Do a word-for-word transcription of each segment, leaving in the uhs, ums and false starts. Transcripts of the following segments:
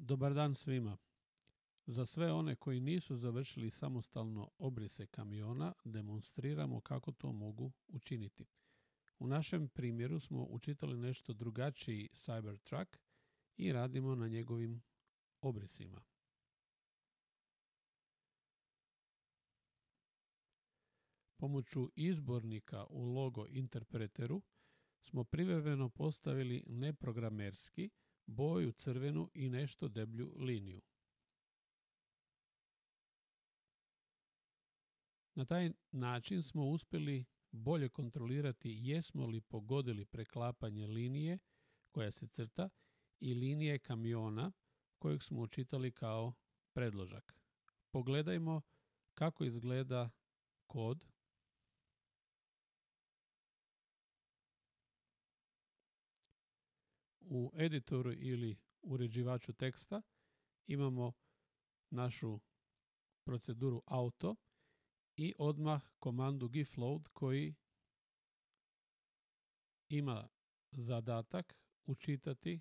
Dobar dan svima. Za sve one koji nisu završili samostalno obrise kamiona, demonstriramo kako to mogu učiniti. U našem primjeru smo učitali nešto drugačiji Cybertruck i radimo na njegovim obrisima. Pomoću izbornika u logo interpreteru smo privremeno postavili neprogramerski, boju crvenu i nešto deblju liniju. Na taj način smo uspjeli bolje kontrolirati jesmo li pogodili preklapanje linije koja se crta i linije kamiona kojeg smo učitali kao predložak. Pogledajmo kako izgleda kod. U editoru ili uređivaču teksta imamo našu proceduru auto i odmah komandu gifload koji ima zadatak učitati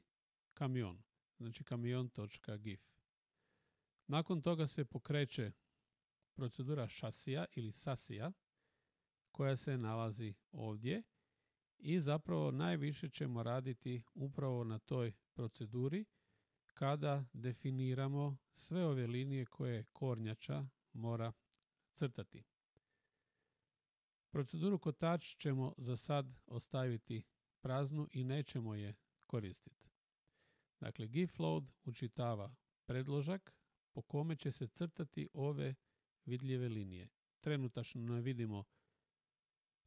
kamion, znači kamion.gif. Nakon toga se pokreće procedura šasija ili sasija koja se nalazi ovdje i zapravo najviše ćemo raditi upravo na toj proceduri kada definiramo sve ove linije koje kornjača mora crtati. Proceduru kotač ćemo za sad ostaviti praznu i nećemo je koristiti. Dakle, gifload učitava predložak po kome će se crtati ove vidljive linije. Trenutačno ne vidimo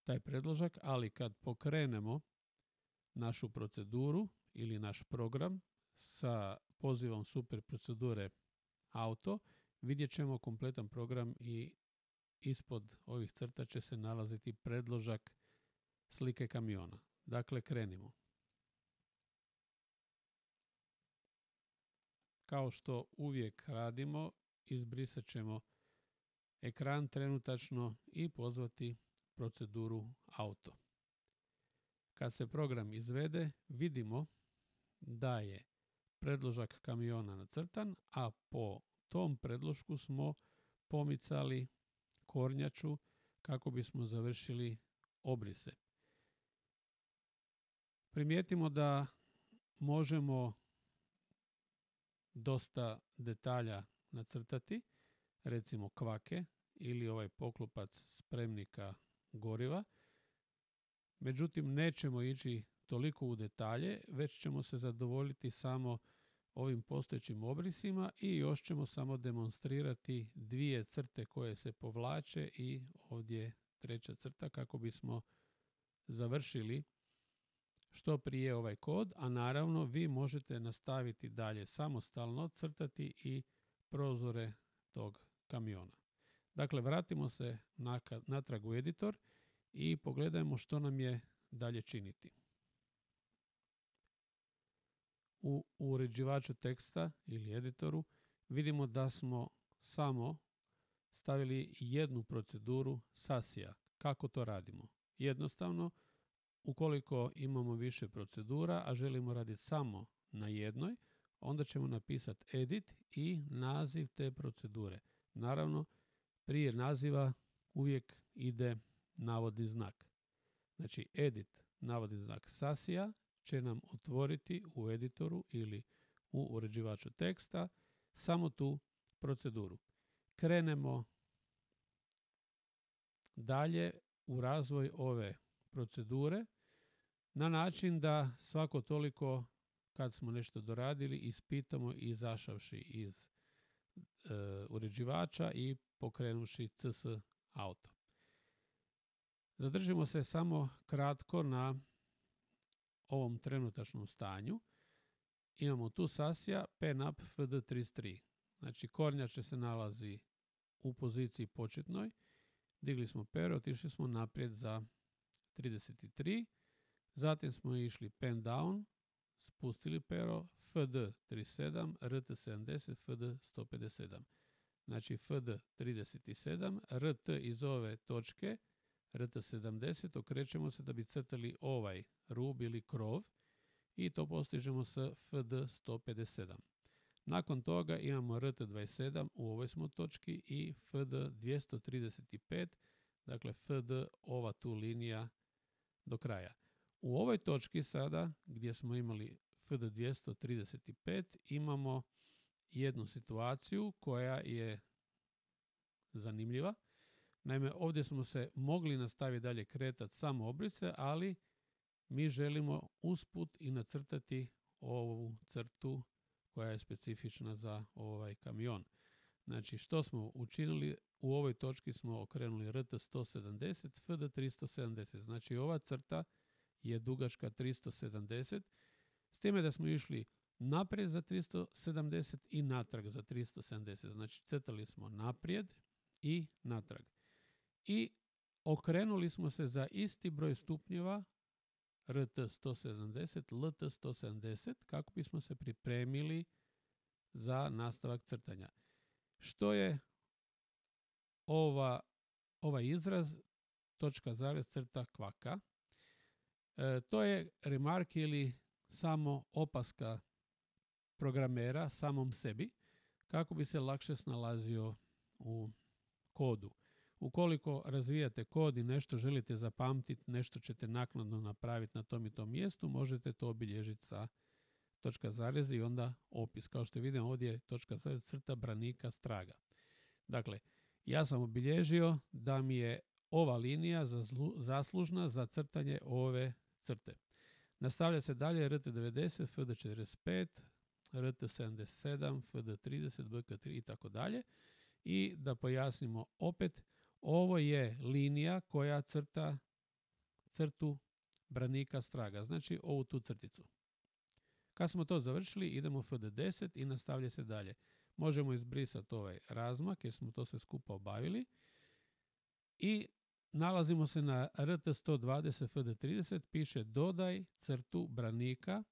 taj predložak, ali kad pokrenemo našu proceduru ili naš program sa pozivom super procedure auto, vidjet ćemo kompletan program i ispod ovih crta će se nalaziti predložak slike kamiona. Dakle, krenimo. Kao što uvijek radimo, izbrisat ćemo ekran trenutačno i pozvati proceduru auto. Kad se program izvede, vidimo da je predložak kamiona nacrtan, a po tom predlošku smo pomicali kornjaču kako bismo završili obrise. Primijetimo da možemo dosta detalja nacrtati, recimo kvake ili ovaj poklopac spremnika goriva. Međutim, nećemo ići toliko u detalje, već ćemo se zadovoljiti samo ovim postojećim obrisima i još ćemo samo demonstrirati dvije crte koje se povlače i ovdje treća crta kako bismo završili što prije ovaj kod, a naravno vi možete nastaviti dalje samostalno crtati i prozore tog kamiona. Dakle, vratimo se natrag u editor i pogledajmo što nam je dalje činiti. U uređivaču teksta ili editoru vidimo da smo samo stavili jednu proceduru sasija. Kako to radimo? Jednostavno, ukoliko imamo više procedura, a želimo raditi samo na jednoj, onda ćemo napisati edit i naziv te procedure. Naravno, prije naziva uvijek ide navodni znak. Znači, edit navodni znak sasija će nam otvoriti u editoru ili u uređivaču teksta samo tu proceduru. Krenemo dalje u razvoj ove procedure na način da svako toliko kad smo nešto doradili ispitamo izašavši iz e, uređivača i pokrenuši C S auto. Zadržimo se samo kratko na ovom trenutačnom stanju. Imamo tu sasija penup F D trideset tri. Znači, kornjače se nalazi u poziciji početnoj. Digli smo pero, otišli smo naprijed za trideset tri. Zatim smo išli pen down, spustili pero, F D trideset sedam, R T sedamdeset, F D sto pedeset sedam. Znači, F D trideset sedam, R T iz ove točke, R T sedamdeset, okrećemo se da bi crtali ovaj rub ili krov i to postižemo s F D sto pedeset sedam. Nakon toga imamo R T dvadeset sedam u ovoj smo točki i F D dvjesto trideset pet, dakle F D ova tu linija do kraja. U ovoj točki sada gdje smo imali F D dvjesto trideset pet imamo jednu situaciju koja je zanimljiva. Naime, ovdje smo se mogli nastaviti dalje kretati samo obrice, ali mi želimo usput i nacrtati ovu crtu koja je specifična za ovaj kamion. Znači, što smo učinili? U ovoj točki smo okrenuli R T sto sedamdeset, F D tristo sedamdeset. Znači, ova crta je dugačka tristo sedamdeset, s time da smo išli naprijed za tristo sedamdeset i natrag za tristo sedamdeset. Znači, crtali smo naprijed i natrag. I okrenuli smo se za isti broj stupnjeva R T sto sedamdeset, L T sto sedamdeset kako bismo se pripremili za nastavak crtanja. Što je ova, ovaj izraz točka zarez crta kvaka? E, to je remark ili samo opaska programera samom sebi kako bi se lakše snalazio u kodu. Ukoliko razvijate kod i nešto želite zapamtiti, nešto ćete naknadno napraviti na tom i tom mjestu, možete to obilježiti sa točka zarez i onda opis. Kao što vidimo ovdje je točka zarez crta branika straga. Dakle, ja sam obilježio da mi je ova linija zaslužna za crtanje ove crte. Nastavlja se dalje R T devedeset, F D četrdeset pet, R T sedamdeset sedam, F D trideset, B K tri i tako dalje. I da pojasnimo opet, ovo je linija koja crta crtu branika straga, znači ovu tu crticu. Kad smo to završili, idemo F D deset i nastavlja se dalje. Možemo izbrisati ovaj razmak jer smo to sve skupa obavili. I nalazimo se na R T sto dvadeset, F D trideset, piše dodaj crtu branika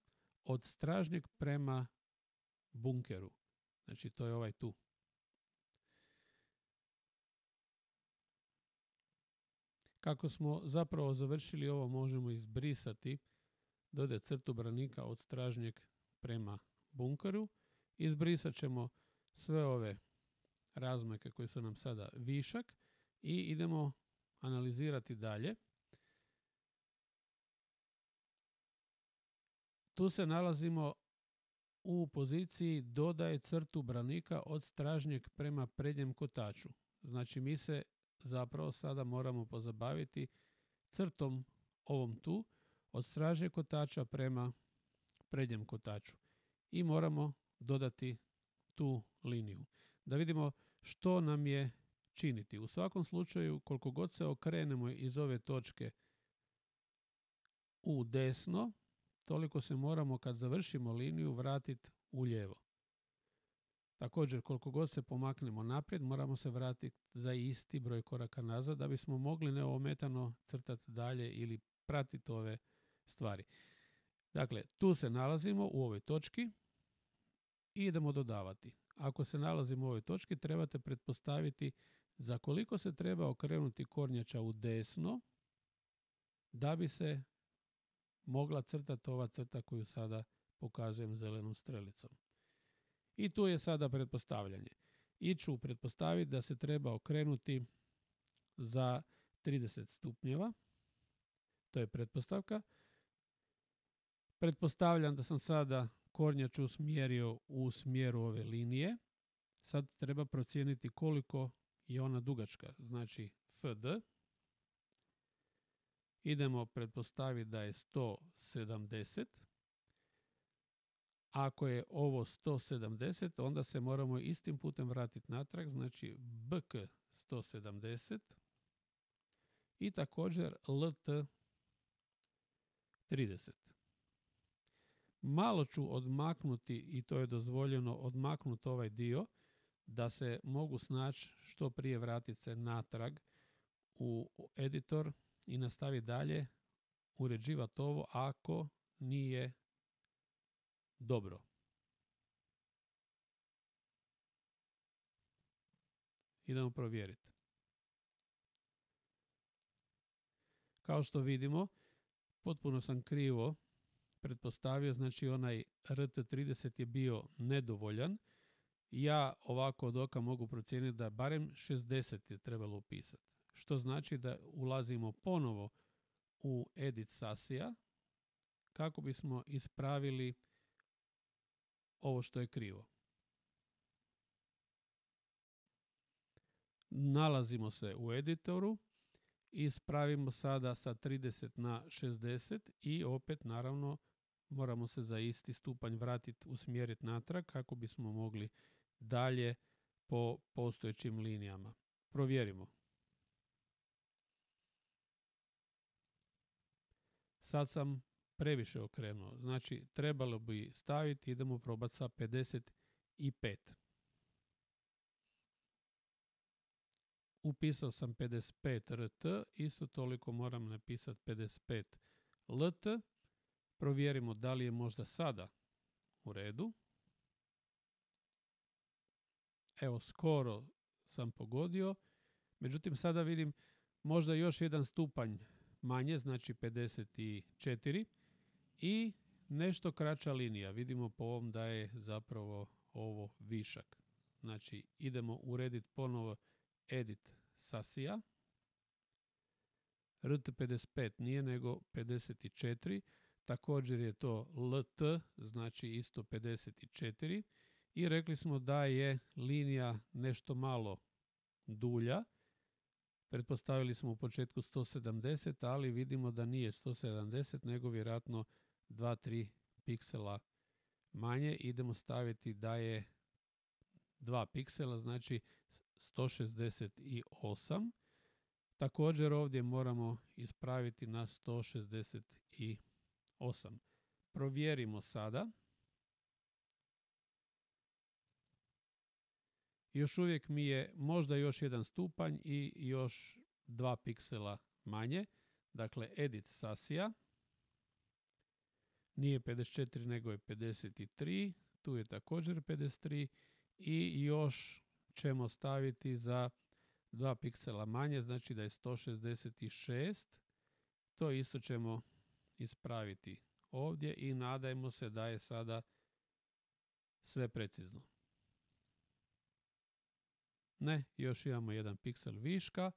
od stražnjeg prema bunkeru. Znači to je ovaj tu. Kako smo zapravo završili ovo, možemo izbrisati dodaj crtu branika od stražnjeg prema bunkeru. Izbrisat ćemo sve ove razmake koje su nam sada višak i idemo analizirati dalje. Tu se nalazimo u poziciji dodaj crtu branika od stražnjeg prema prednjem kotaču. Znači mi se zapravo sada moramo pozabaviti crtom ovom tu od stražnjeg kotača prema prednjem kotaču. I moramo dodati tu liniju. Da vidimo što nam je činiti. U svakom slučaju, koliko god se okrenemo iz ove točke u desno, toliko se moramo kad završimo liniju vratiti u lijevo. Također, koliko god se pomaknemo naprijed, moramo se vratiti za isti broj koraka nazad da bismo mogli neometano crtati dalje ili pratiti ove stvari. Dakle, tu se nalazimo u ovoj točki i idemo dodavati. Ako se nalazimo u ovoj točki, trebate pretpostaviti za koliko se treba okrenuti kornjača u desno da bi se mogla crtati ova crta koju sada pokazujem zelenom strelicom. I tu je sada pretpostavljanje. I ću pretpostaviti da se treba okrenuti za trideset stupnjeva. To je pretpostavka. Pretpostavljam da sam sada kornjaču usmjerio u smjeru ove linije. Sad treba procijeniti koliko je ona dugačka. Znači F D. Idemo pretpostaviti da je sto sedamdeset. Ako je ovo sto sedamdeset, onda se moramo istim putem vratiti natrag. Znači B K sto sedamdeset i također L T trideset. Malo ću odmaknuti, i to je dozvoljeno, odmaknuti ovaj dio da se mogu snaći što prije vratiti se natrag u editor i nastaviti dalje uređivati ovo ako nije dobro. Idemo provjeriti. Kao što vidimo, potpuno sam krivo pretpostavio, znači onaj R T trideset je bio nedovoljan. Ja ovako od oka mogu procijeniti da barem šezdeset je trebalo upisati. Što znači da ulazimo ponovo u edit sasija kako bismo ispravili ovo što je krivo. Nalazimo se u editoru, ispravimo sada sa trideset na šezdeset i opet naravno moramo se za isti stupanj vratiti, usmjeriti natrag kako bismo mogli dalje po postojećim linijama. Provjerimo. Sad sam previše okrenuo, znači trebalo bi staviti, idemo probati sa pedeset pet. Upisao sam pedeset pet R T, isto toliko moram napisati pedeset pet L T. Provjerimo da li je možda sada u redu. Evo, skoro sam pogodio. Međutim, sada vidim možda još jedan stupanj manje, znači pedeset četiri. I nešto kraća linija. Vidimo po ovom da je zapravo ovo višak. Znači, idemo urediti ponovo edit sasija. R T pedeset pet nije nego pedeset četiri. Također je to L T, znači isto pedeset četiri. I rekli smo da je linija nešto malo dulja. Pretpostavili smo u početku sto sedamdeset, ali vidimo da nije sto sedamdeset, nego vjerojatno dva do tri piksela manje. Idemo staviti da je dva piksela, znači sto šezdeset osam. Također ovdje moramo ispraviti na sto šezdeset osam. Provjerimo sada. Još uvijek mi je možda još jedan stupanj i još dva piksela manje. Dakle, edit sasija. Nije pedeset četiri nego je pedeset tri. Tu je također pedeset tri. I još ćemo staviti za dva piksela manje, znači da je sto šezdeset šest. To isto ćemo ispraviti ovdje i nadajmo se da je sada sve precizno. Ne, još imamo jedan piksel viška,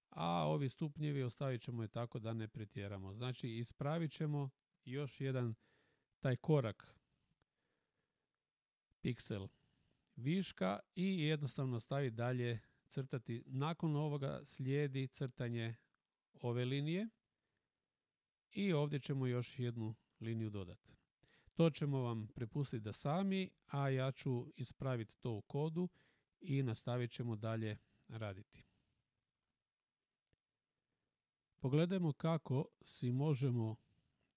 a ovi stupnjevi ostavit ćemo je tako da ne pretjeramo. Znači ispravit ćemo još jedan taj korak piksel viška i jednostavno staviti dalje crtati. Nakon ovoga slijedi crtanje ove linije i ovdje ćemo još jednu liniju dodati. To ćemo vam prepustiti da sami, a ja ću ispraviti to u kodu i nastavit ćemo dalje raditi. Pogledajmo kako si možemo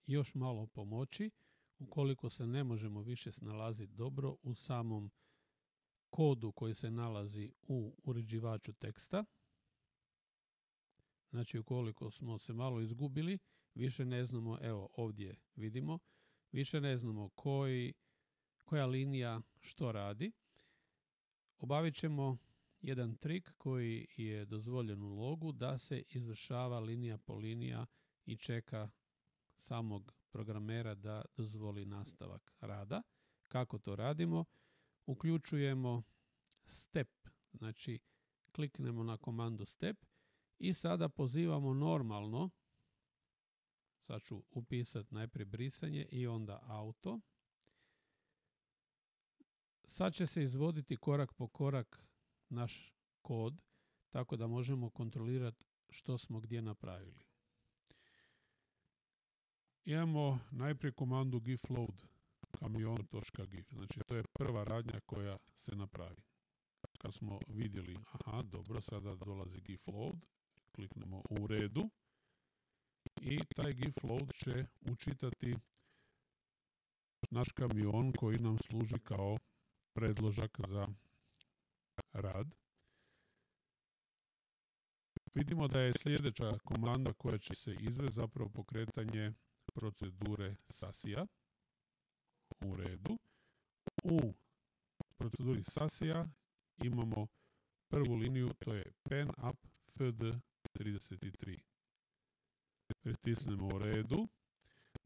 još malo pomoći ukoliko se ne možemo više snalaziti dobro u samom kodu koji se nalazi u uređivaču teksta. Znači ukoliko smo se malo izgubili, više ne znamo, evo ovdje vidimo, više ne znamo koji, koja linija što radi. Obavit ćemo jedan trik koji je dozvoljen u logu da se izvršava linija po linija i čeka samog programera da dozvoli nastavak rada. Kako to radimo? Uključujemo step, znači kliknemo na komandu step i sada pozivamo normalno, sad ću upisati najprije brisanje i onda auto. Sad će se izvoditi korak po korak naš kod, tako da možemo kontrolirati što smo gdje napravili. Imamo najprije komandu gif load kamion.gif, znači to je prva radnja koja se napravi. Kad smo vidjeli, aha, dobro, sada dolazi gif load, kliknemo u redu i taj gif load će učitati naš kamion koji nam služi kao predložak za rad. Vidimo da je sljedeća komanda koja će se izvesti zapravo pokretanje procedure sasija. U redu. U proceduri sasija imamo prvu liniju, to je pen up f d trideset tri. Pritisnemo u redu.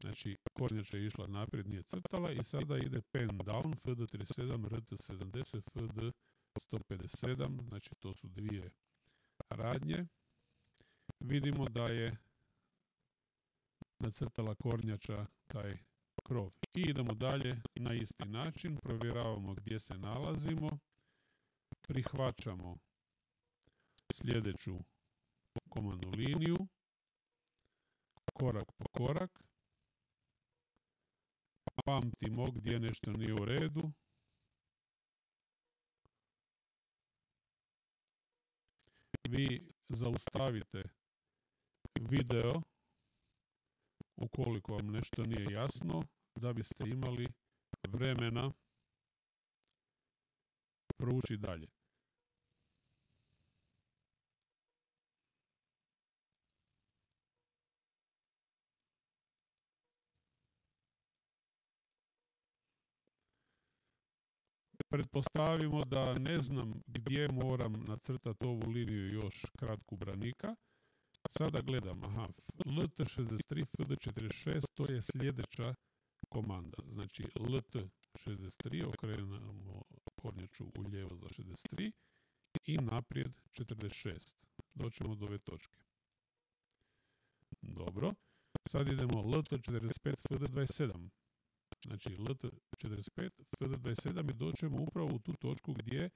Znači, kornjača je išla naprijed, nije crtala i sada ide pen down, F D trideset sedam, R T sedamdeset, F D sto pedeset sedam, znači to su dvije radnje. Vidimo da je nacrtala kornjača taj krov. I idemo dalje na isti način, provjeravamo gdje se nalazimo, prihvaćamo sljedeću komandnu liniju, korak po korak, pamtimo gdje nešto nije u redu, vi zaustavite video ukoliko vam nešto nije jasno, da biste imali vremena proučiti dalje. Pretpostavimo da ne znam gdje moram nacrtati ovu liniju još kratku branika. Sada gledam, aha, L T šezdeset tri, F D četrdeset šest, to je sljedeća komanda. Znači L T šezdeset tri, okrenemo kornjaču u lijevo za šezdeset tri i naprijed četrdeset šest. Doćemo do ove točke. Dobro, sad idemo L T četrdeset pet, F D dvadeset sedam. Znači L T četrdeset pet, F D dvadeset sedam i doćemo upravo u tu točku gdje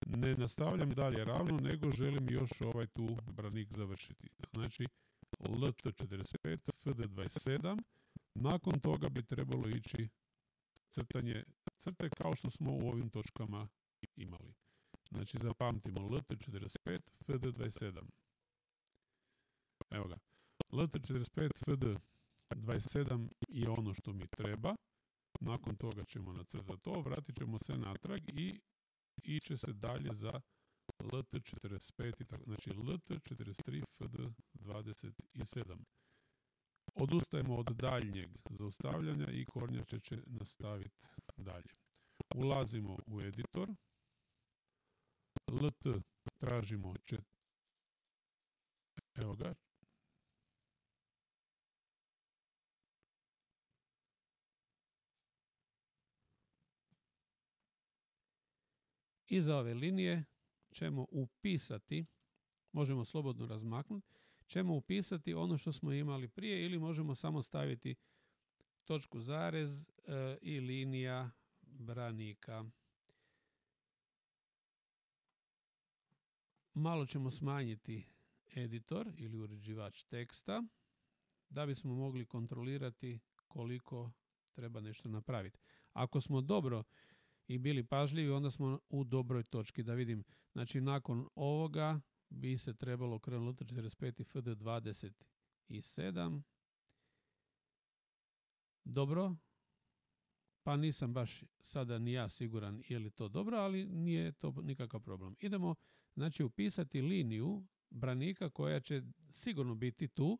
ne nastavljam dalje ravno, nego želim još ovaj tu branik završiti. Znači L T četrdeset pet, F D dvadeset sedam, nakon toga bi trebalo ići crtanje crte kao što smo u ovim točkama imali. Znači zapamtimo L T četrdeset pet, F D dvadeset sedam. Evo ga. L T četrdeset pet, F D dvadeset sedam je ono što mi treba. Nakon toga ćemo nacrtati to, vratit ćemo se natrag i iće se dalje za L T četrdeset pet, znači L T četrdeset tri, F D dvadeset sedam. Odustajemo od daljnjeg zaustavljanja i kornjača će nastaviti dalje. Ulazimo u editor. L T tražimo čet... Evo ga. Iza ove linije ćemo upisati, možemo slobodno razmaknuti, ćemo upisati ono što smo imali prije ili možemo samo staviti točku zarez e, i linija branika. Malo ćemo smanjiti editor ili uređivač teksta da bismo mogli kontrolirati koliko treba nešto napraviti. Ako smo dobro i bili pažljivi, onda smo u dobroj točki. Da vidim, znači nakon ovoga bi se trebalo krenuti L T četrdeset pet i F D dvadeset sedam. Dobro, pa nisam baš sada ni ja siguran je li to dobro, ali nije to nikakav problem. Idemo znači upisati liniju branika koja će sigurno biti tu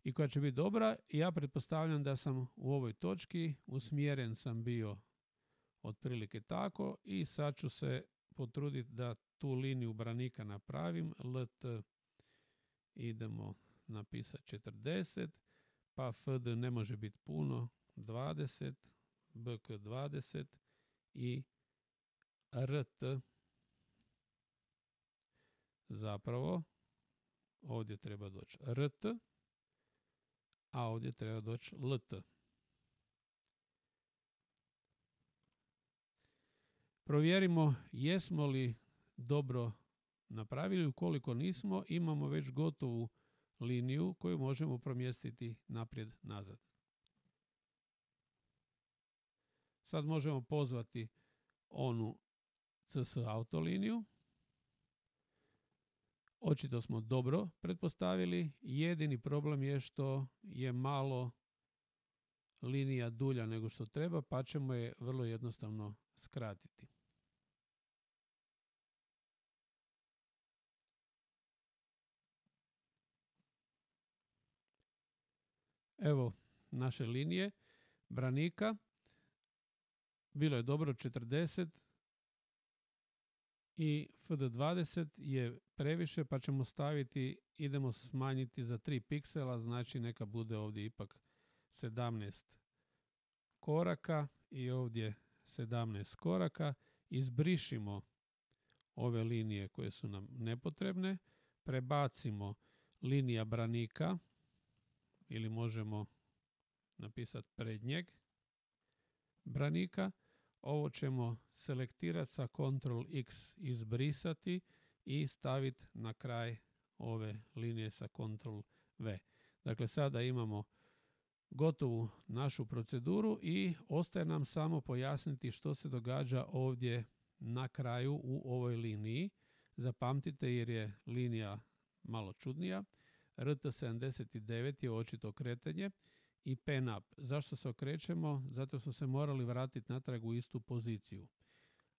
i koja će biti dobra. Ja pretpostavljam da sam u ovoj točki, usmjeren sam bio otprilike tako i sad ću se potruditi da tu liniju branika napravim. L T idemo napisati četrdeset, pa F D ne može biti puno, dvadeset, B K dvadeset i R T zapravo ovdje treba doći R T, a ovdje treba doći L T. Provjerimo jesmo li dobro napravili. Ukoliko nismo, imamo već gotovu liniju koju možemo promjestiti naprijed nazad. Sad možemo pozvati onu C S auto liniju. Očito smo dobro pretpostavili. Jedini problem je što je malo linija dulja nego što treba, pa ćemo je vrlo jednostavno skratiti. Evo naše linije branika. Bilo je dobro četrdeset i F D dvadeset je previše, pa ćemo staviti, idemo smanjiti za tri piksela, znači neka bude ovdje ipak sedamnaest koraka i ovdje sedamnaest koraka. Izbrišimo ove linije koje su nam nepotrebne, prebacimo linija branika ili možemo napisati prednjeg branika. Ovo ćemo selektirati sa kontrol X, izbrisati i staviti na kraj ove linije sa kontrol V. Dakle, sada imamo gotovu našu proceduru i ostaje nam samo pojasniti što se događa ovdje na kraju u ovoj liniji. Zapamtite jer je linija malo čudnija. R T sedamdeset devet je očito kretanje i pen up. Zašto se okrećemo? Zato smo se morali vratiti natrag u istu poziciju.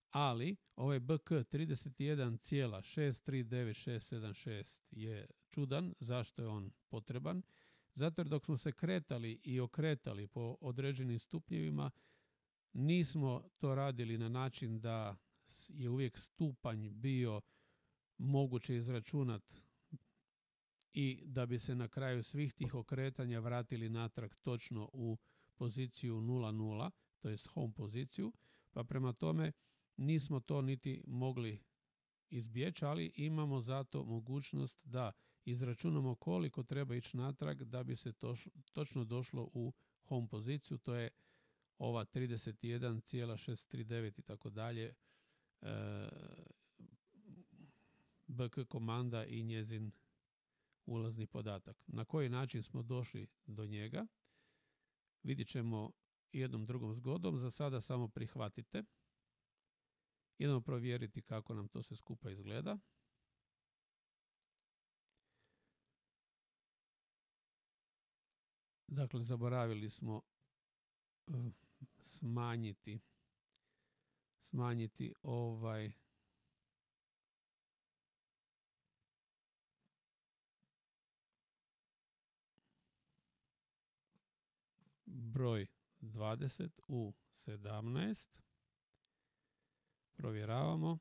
Ali ovaj B K trideset jedan šest tri devet šest sedam šest je čudan. Zašto je on potreban? Zato jer dok smo se kretali i okretali po određenim stupnjevima, nismo to radili na način da je uvijek stupanj bio moguće izračunati i da bi se na kraju svih tih okretanja vratili natrag točno u poziciju nula nula, to jest home poziciju, pa prema tome nismo to niti mogli izbjeći, ali imamo zato mogućnost da izračunamo koliko treba ići natrag da bi se to, točno došlo u home poziciju, to je ova trideset jedan šest tri devet i tako dalje, B K komanda i njezin ulazni podatak. Na koji način smo došli do njega vidjet ćemo jednom drugom zgodom. Za sada samo prihvatite. Idemo provjeriti kako nam to sve skupa izgleda. Dakle, zaboravili smo uh, smanjiti smanjiti ovaj broj dvadeset u sedamnaest. Provjeravamo.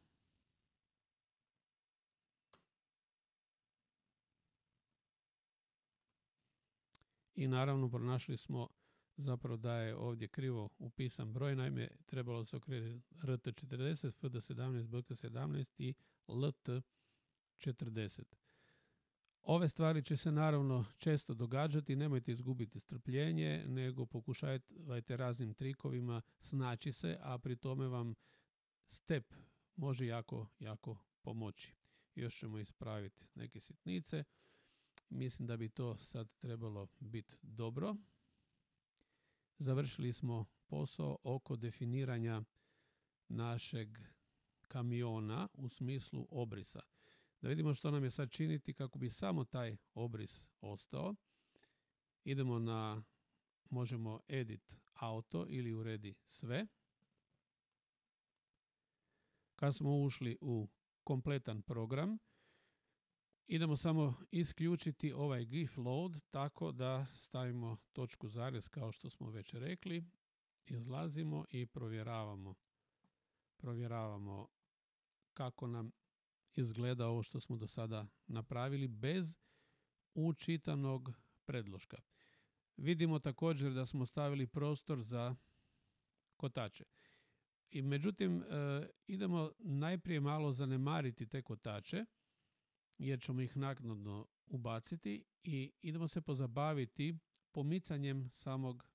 I naravno pronašli smo zapravo da je ovdje krivo upisan broj, naime trebalo se okrenuti R T četrdeset, F D sedamnaest, B K sedamnaest i L T četrdeset. Ove stvari će se naravno često događati, nemojte izgubiti strpljenje, nego pokušajte raznim trikovima snaći se, a pri tome vam step može jako, jako pomoći. Još ćemo ispraviti neke sitnice. Mislim da bi to sad trebalo biti dobro. Završili smo posao oko definiranja našeg kamiona u smislu obrisa. Da vidimo što nam je sad činiti kako bi samo taj obris ostao. Idemo na, možemo edit auto ili uredi sve. Kad smo ušli u kompletan program, idemo samo isključiti ovaj gif load tako da stavimo točku zarez kao što smo već rekli. Izlazimo i provjeravamo. Provjeravamo kako nam izgleda ovo što smo do sada napravili bez učitanog predloška. Vidimo također da smo stavili prostor za kotače. I međutim, e, idemo najprije malo zanemariti te kotače, jer ćemo ih naknadno ubaciti i idemo se pozabaviti pomicanjem samog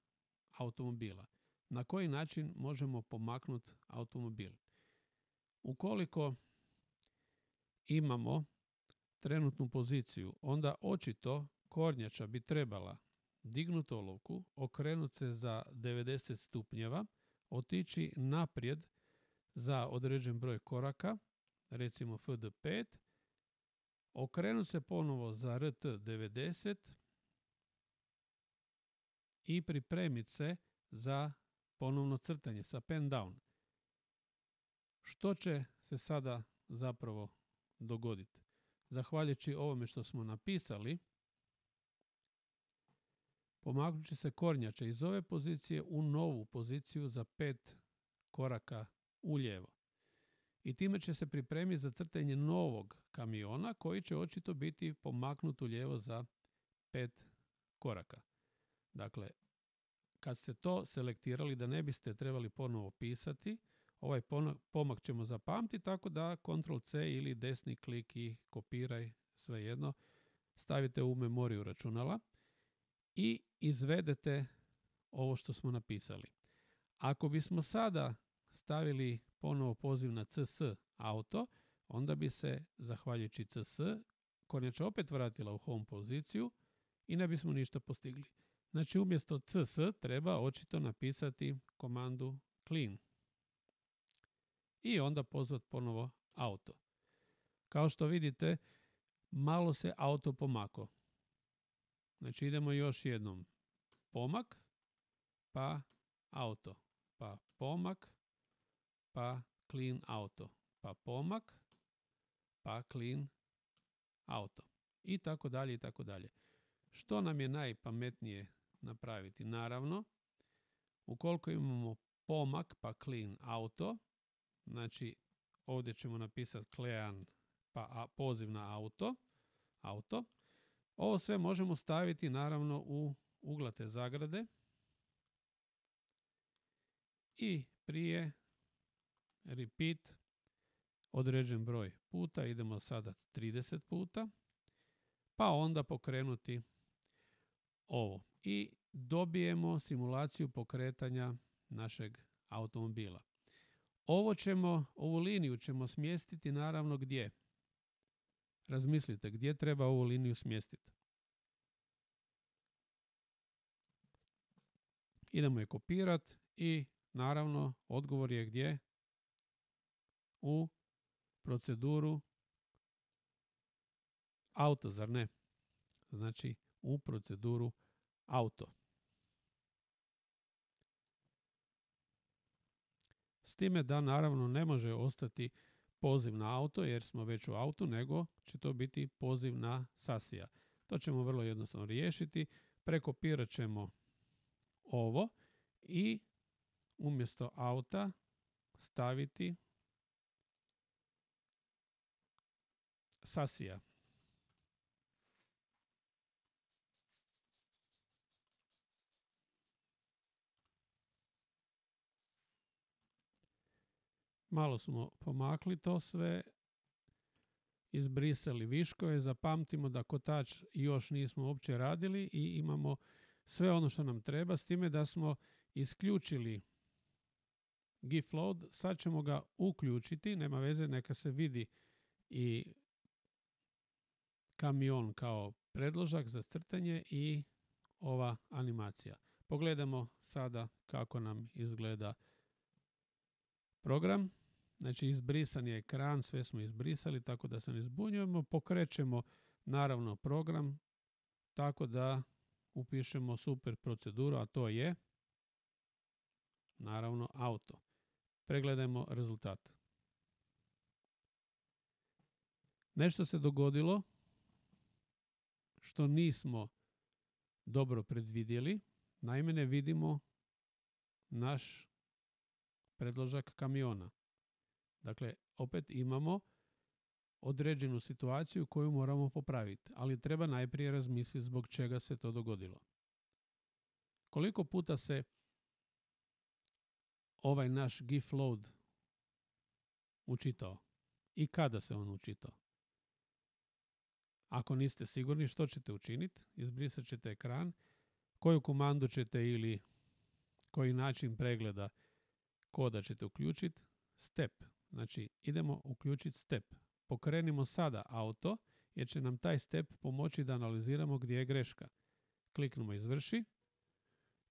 automobila. Na koji način možemo pomaknuti automobil? Ukoliko imamo trenutnu poziciju, onda očito kornjača bi trebala dignuti olovku, okrenuti se za devedeset stupnjeva, otići naprijed za određen broj koraka, recimo F D pet, okrenuti se ponovo za R T devedeset i pripremiti se za ponovno crtanje sa pen down. Što će se sada zapravo dogoditi? Zahvaljujući ovome što smo napisali, pomaknut će se kornjača iz ove pozicije u novu poziciju za pet koraka ulijevo. I time će se pripremiti za crtanje novog kamiona koji će očito biti pomaknut ulijevo za pet koraka. Dakle, kad ste to selektirali da ne biste trebali ponovo pisati, ovaj pomak ćemo zapamtiti tako da kontrol ce ili desni klik i kopiraj, svejedno, stavite u memoriju računala i izvedete ovo što smo napisali. Ako bismo sada stavili ponovo poziv na cs auto, onda bi se, zahvaljujući cs, kornjača opet vratila u home poziciju i ne bismo ništa postigli. Znači, umjesto cs treba očito napisati komandu clean i onda pozvati ponovo auto. Kao što vidite, malo se auto pomako. Znači, idemo još jednom. Pomak, pa auto, pa pomak, pa clean auto, pa pomak, pa clean auto. I tako dalje, i tako dalje. Što nam je najpametnije napraviti? Naravno, ukoliko imamo pomak, pa clean auto, znači ovdje ćemo napisati clean, pa poziv na auto, auto. Ovo sve možemo staviti naravno u uglate zagrade i prije repeat određen broj puta, idemo sada trideset puta, pa onda pokrenuti ovo i dobijemo simulaciju pokretanja našeg automobila. Ovo ćemo, ovu liniju ćemo smjestiti naravno gdje? Razmislite gdje treba ovu liniju smjestiti. Idemo je kopirati i naravno odgovor je gdje? U proceduru auto, zar ne? Znači u proceduru auto. S time da naravno ne može ostati poziv na auto jer smo već u autu, nego će to biti poziv na sasija. To ćemo vrlo jednostavno riješiti. Prekopirat ćemo ovo i umjesto auta staviti sasija. Malo smo pomakli to sve, izbrisali viškove, zapamtimo da kotač još nismo uopće radili i imamo sve ono što nam treba, s time da smo isključili gif load, sad ćemo ga uključiti, nema veze, neka se vidi i kamion kao predložak za crtanje i ova animacija. Pogledamo sada kako nam izgleda program. Znači, izbrisan je ekran, sve smo izbrisali, tako da se ne zbunjujemo. Pokrećemo naravno program tako da upišemo super proceduru, a to je naravno auto. Pregledajmo rezultat. Nešto se dogodilo što nismo dobro predvidjeli. Naime, ne vidimo naš predložak kamiona. Dakle, opet imamo određenu situaciju koju moramo popraviti, ali treba najprije razmisliti zbog čega se to dogodilo. Koliko puta se ovaj naš gif load učitao i kada se on učitao? Ako niste sigurni što ćete učiniti, izbrisat ćete ekran, koju komandu ćete ili koji način pregleda koda ćete uključiti, step. Znači, idemo uključiti step. Pokrenimo sada auto, jer će nam taj step pomoći da analiziramo gdje je greška. Kliknemo izvrši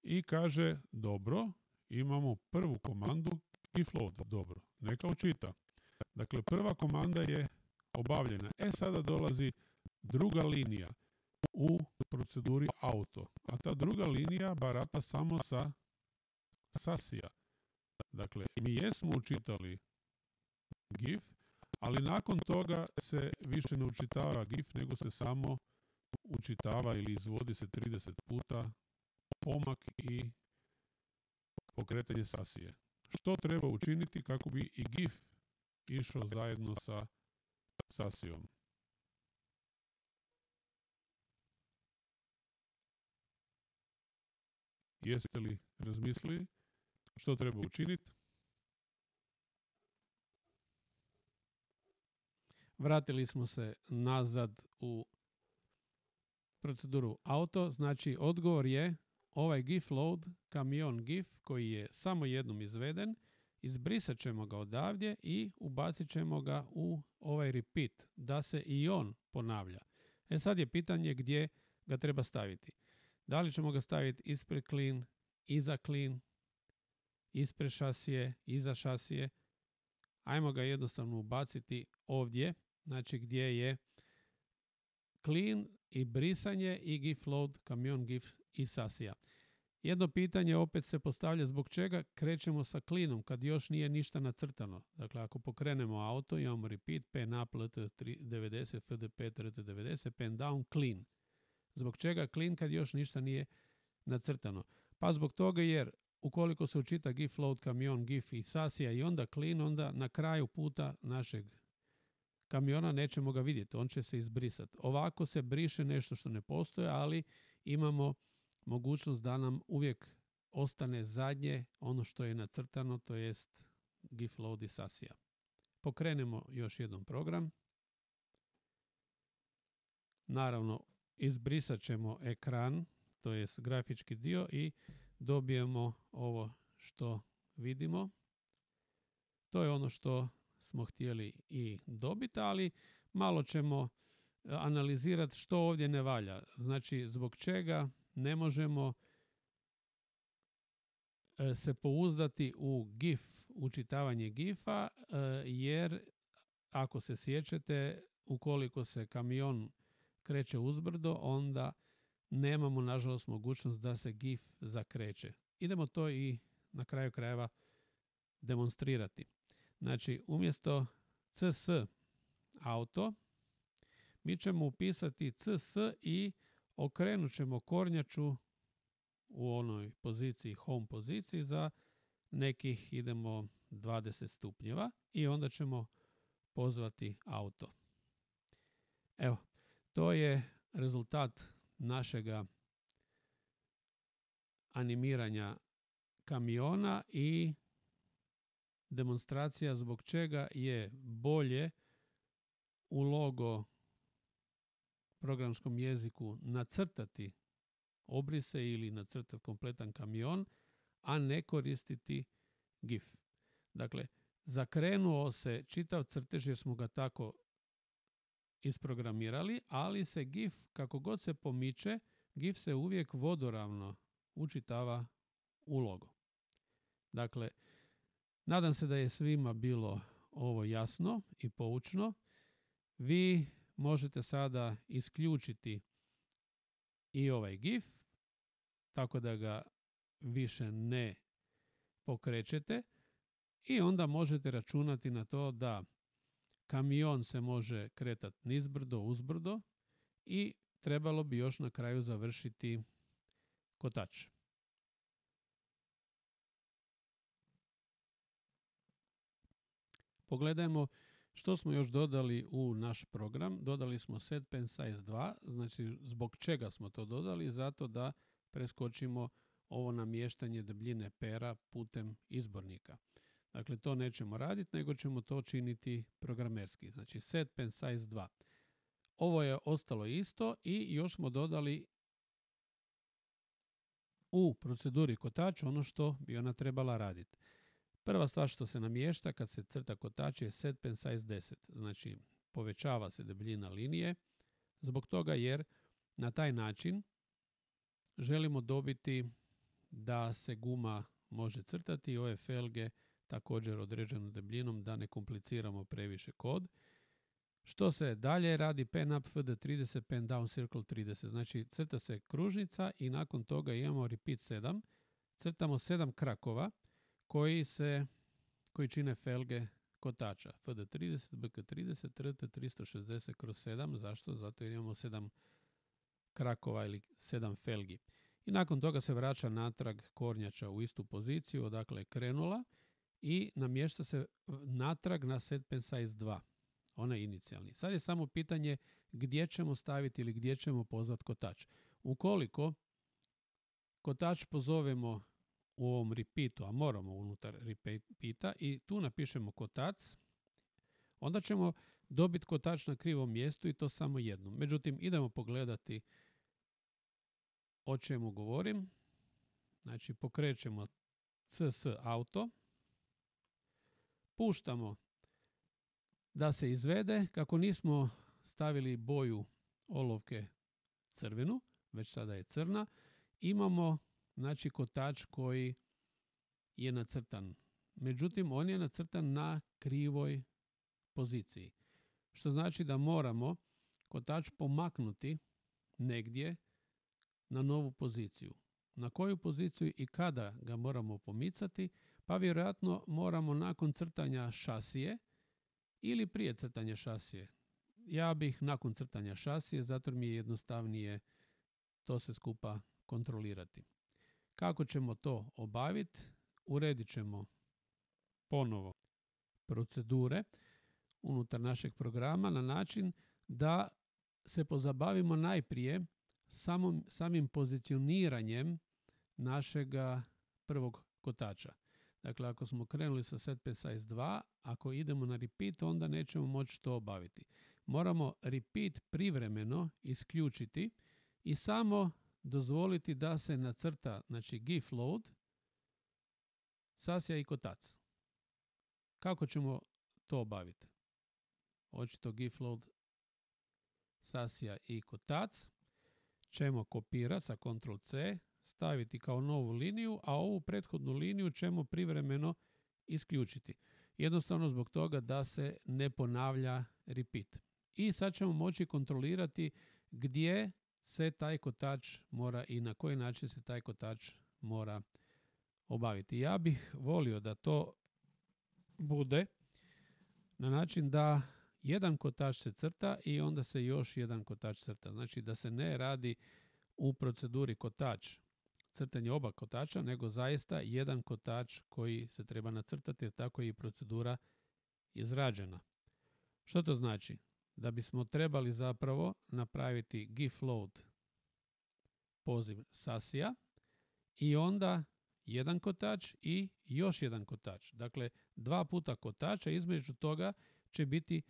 i kaže, dobro, imamo prvu komandu gif load. Dobro, neka učita. Dakle, prva komanda je obavljena. E, sada dolazi druga linija u proceduri auto. A ta druga linija barata samo sa sasija. Dakle, mi jesmo učitali gif, ali nakon toga se više ne učitava gif, nego se samo učitava ili izvodi se trideset puta pomak i pokretanje sasije. Što treba učiniti kako bi i gif išao zajedno sa sasijom? Jeste li razmislili što treba učiniti? Vratili smo se nazad u proceduru auto. Znači, odgovor je ovaj gif load, kamion gif koji je samo jednom izveden, izbrisat ćemo ga odavdje i ubacit ćemo ga u ovaj repeat, da se i on ponavlja. E sad je pitanje gdje ga treba staviti. Da li ćemo ga staviti ispred clean, iza clean, ispred šasije, iza šasije. Ajmo ga jednostavno ubaciti ovdje, znači gdje je clean i brisanje i gif load, kamion gif i sasija. Jedno pitanje opet se postavlja zbog čega krećemo sa cleanom kad još nije ništa nacrtano. Dakle, ako pokrenemo auto, imamo repeat, pen up, lt devedeset, fdp, trt devedeset, pen down, clean. Zbog čega clean kad još ništa nije nacrtano? Pa zbog toga jer ukoliko se učita gif load, kamion, gif i sasija i onda clean, onda na kraju puta našeg kamiona nećemo ga vidjeti, on će se izbrisati. Ovako se briše nešto što ne postoje, ali imamo mogućnost da nam uvijek ostane zadnje ono što je nacrtano, to jest gif load i sasija. Pokrenemo još jednom program. Naravno, izbrisat ćemo ekran, to jest grafički dio i dobijemo ovo što vidimo. To je ono što smo htjeli i dobiti, ali malo ćemo analizirati što ovdje ne valja. Znači, zbog čega ne možemo se pouzdati u gif, učitavanje gifa, jer ako se sjećate, ukoliko se kamion kreće uzbrdo, onda nemamo, nažalost, mogućnost da se gif zakreće. Idemo to i na kraju krajeva demonstrirati. Znači, umjesto cs auto, mi ćemo upisati cs i okrenut ćemo kornjaču u onoj poziciji, home poziciji, za nekih, idemo, dvadeset stupnjeva i onda ćemo pozvati auto. Evo, to je rezultat našega animiranja kamiona i demonstracija zbog čega je bolje u logo programskom jeziku nacrtati obrise ili nacrtati kompletan kamion, a ne koristiti gif. Dakle, zakrenuo se čitav crtež jer smo ga tako isprogramirali, ali se gif, kako god se pomiče, gif se uvijek vodoravno učitava u logo. Dakle, nadam se da je svima bilo ovo jasno i poučno. Vi možete sada isključiti i ovaj gif, tako da ga više ne pokrećete i onda možete računati na to da kamion se može kretati nizbrdo, uzbrdo i trebalo bi još na kraju završiti kotač. Pogledajmo što smo još dodali u naš program. Dodali smo set pen size dva, znači zbog čega smo to dodali? Zato da preskočimo ovo namještanje debljine pera putem izbornika. Dakle, to nećemo raditi, nego ćemo to činiti programerski. Znači, set pen size dva. Ovo je ostalo isto i još smo dodali u proceduri kotač ono što bi ona trebala raditi. Prva stvar što se namješta kad se crta kotač je set pen size deset. Znači, povećava se debljina linije zbog toga jer na taj način želimo dobiti da se guma može crtati i ove felge također određenom debljinom da ne kompliciramo previše kod. Što se dalje radi? Pen up fd trideset, pen down circle trideset. Znači, crta se kružnica i nakon toga imamo repeat sedam. Crtamo sedam krakova koji se koji čine felge kotača. fd trideset, bk trideset, trt tristo šezdeset kroz sedam. Zašto? Zato jer imamo sedam krakova ili sedam felgi. I nakon toga se vraća natrag kornjača u istu poziciju, odakle je krenula i namješta se natrag na set pen size dva. Onaj inicijalni. Sad je samo pitanje gdje ćemo staviti ili gdje ćemo pozvati kotač. Ukoliko kotač pozovemo u ovom repeatu, a moramo unutar repeata, i tu napišemo kotac, onda ćemo dobiti kotač na krivom mjestu i to samo jednom. Međutim, idemo pogledati o čemu govorim. Znači, pokrećemo C S auto, puštamo da se izvede. Kako nismo stavili boju olovke crvenu, već sada je crna, imamo znači kotač koji je nacrtan. Međutim, on je nacrtan na krivoj poziciji. Što znači da moramo kotač pomaknuti negdje na novu poziciju. Na koju poziciju i kada ga moramo pomicati? Pa vjerojatno moramo nakon crtanja šasije ili prije crtanja šasije. Ja bih nakon crtanja šasije, zato mi je jednostavnije to se skupa kontrolirati. Kako ćemo to obaviti? Uredit ćemo ponovo procedure unutar našeg programa na način da se pozabavimo najprije samom, samim pozicioniranjem našega prvog kotača. Dakle, ako smo krenuli sa set precise dva, ako idemo na repeat, onda nećemo moći to obaviti. Moramo repeat privremeno isključiti i samo dozvoliti da se nacrta, znači gif load, sasija i kotac. Kako ćemo to obaviti? Očito gif load, sasija i kotac ćemo kopirati sa kontrol C, staviti kao novu liniju, a ovu prethodnu liniju ćemo privremeno isključiti. Jednostavno zbog toga da se ne ponavlja repeat. I sad ćemo moći kontrolirati gdje se taj kotač mora i na koji način se taj kotač mora obaviti. Ja bih volio da to bude na način da jedan kotač se crta i onda se još jedan kotač crta. Znači da se ne radi u proceduri kotač, crtanje oba kotača, nego zaista jedan kotač koji se treba nacrtati, jer tako je i procedura izrađena. Što to znači? Da bismo trebali zapravo napraviti gif load poziv sasija i onda jedan kotač i još jedan kotač. Dakle, dva puta kotača, između toga će biti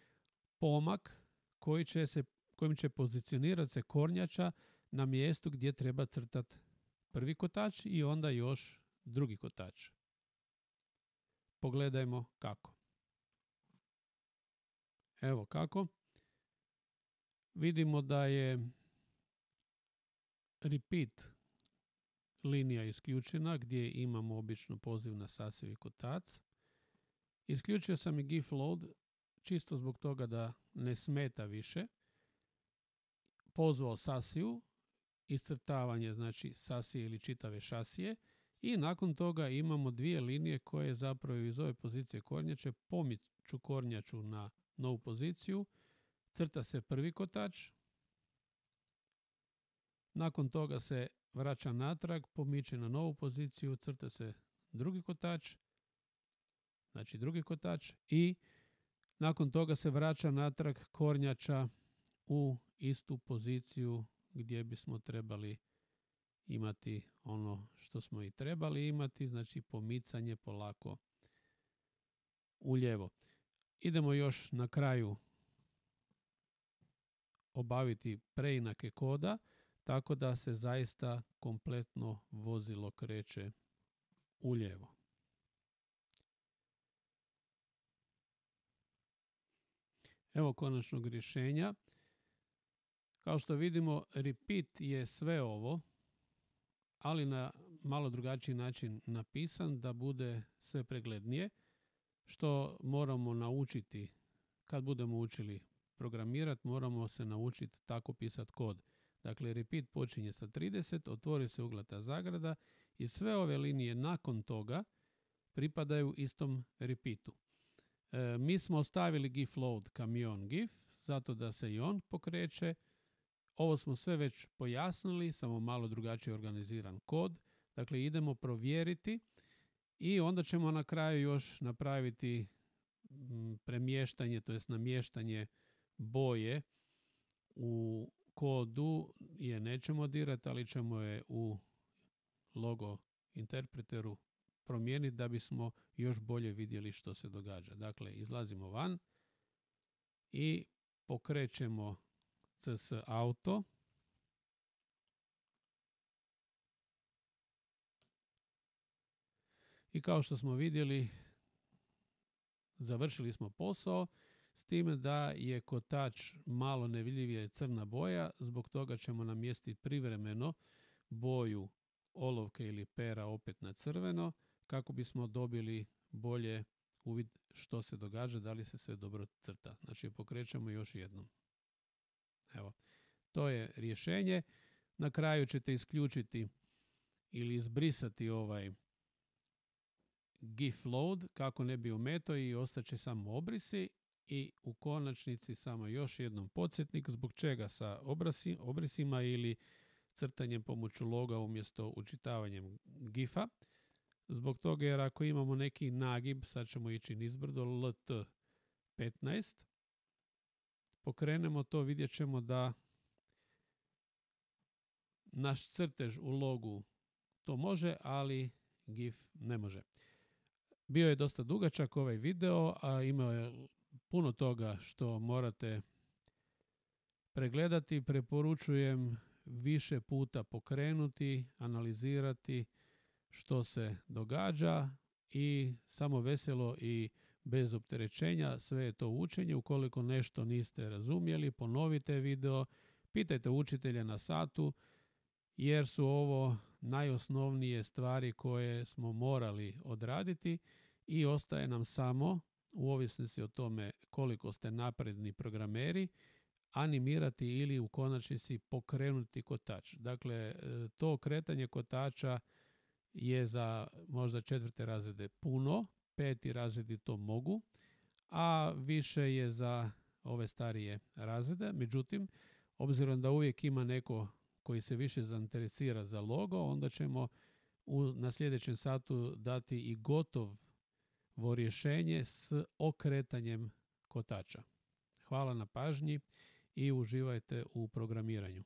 pomak koji će se, kojim će pozicionirati se kornjača na mjestu gdje treba crtati prvi kotač i onda još drugi kotač. Pogledajmo kako. Evo kako. Vidimo da je repeat linija isključena gdje imamo obično poziv na sasiju i kotac. Isključio sam i gif load čisto zbog toga da ne smeta više. Pozvao sasiju, iscrtavanje znači sasije ili čitave šasije i nakon toga imamo dvije linije koje zapravo iz ove pozicije kornjače pomiču kornjaču na novu poziciju. Crta se prvi kotač, nakon toga se vraća natrag, pomiče na novu poziciju, crta se drugi kotač, znači drugi kotač i nakon toga se vraća natrag kornjača u istu poziciju gdje bismo trebali imati ono što smo i trebali imati, znači pomicanje polako u lijevo. Idemo još na kraju obaviti preinake koda, tako da se zaista kompletno vozilo kreće u lijevo. Evo konačnog rješenja. Kao što vidimo, repeat je sve ovo, ali na malo drugačiji način napisan da bude sve preglednije, što moramo naučiti kad budemo učili programirati, moramo se naučiti tako pisati kod. Dakle, repeat počinje sa trideset, otvori se uglata zagrada i sve ove linije nakon toga pripadaju istom repeatu. E, mi smo ostavili gif load kamion gif, zato da se i on pokreće. Ovo smo sve već pojasnili, samo malo drugačije organiziran kod. Dakle, idemo provjeriti i onda ćemo na kraju još napraviti premještanje, to jest namještanje boje u kodu je nećemo dirati, ali ćemo je u logo interpreteru promijeniti da bismo još bolje vidjeli što se događa. Dakle, izlazimo van i pokrećemo C S Auto. I kao što smo vidjeli, završili smo posao, s time da je kotač malo nevidljivije crna boja, zbog toga ćemo namjestiti privremeno boju olovke ili pera opet na crveno, kako bismo dobili bolje uvid što se događa, da li se sve dobro crta. Znači pokrećemo još jednom. Evo, to je rješenje. Na kraju ćete isključiti ili izbrisati ovaj GIF load kako ne bi ometao i ostaće samo obrisi. I u konačnici samo još jednom podsjetnik zbog čega sa obrasi, obrisima ili crtanjem pomoću loga umjesto učitavanjem gifa. Zbog toga jer ako imamo neki nagib, sad ćemo ići nizbrdo, L T petnaest, pokrenemo to, vidjet ćemo da naš crtež u logu to može, ali gif ne može. Bio je dosta dugačak ovaj video, a imao je puno toga što morate pregledati. Preporučujem više puta pokrenuti, analizirati što se događa i samo veselo i bez opterećenja. Sve je to učenje. Ukoliko nešto niste razumjeli, ponovite video, pitajte učitelja na satu, jer su ovo najosnovnije stvari koje smo morali odraditi i ostaje nam samo, u ovisnosti o tome koliko ste napredni programeri, animirati ili u konačnici pokrenuti kotač. Dakle, to kretanje kotača je za možda četvrte razrede puno, peti razredi to mogu, a više je za ove starije razrede. Međutim, obzirom da uvijek ima neko koji se više zainteresira za logo, onda ćemo u, na sljedećem satu dati i gotovo rješenje s okretanjem kotača. Hvala na pažnji i uživajte u programiranju.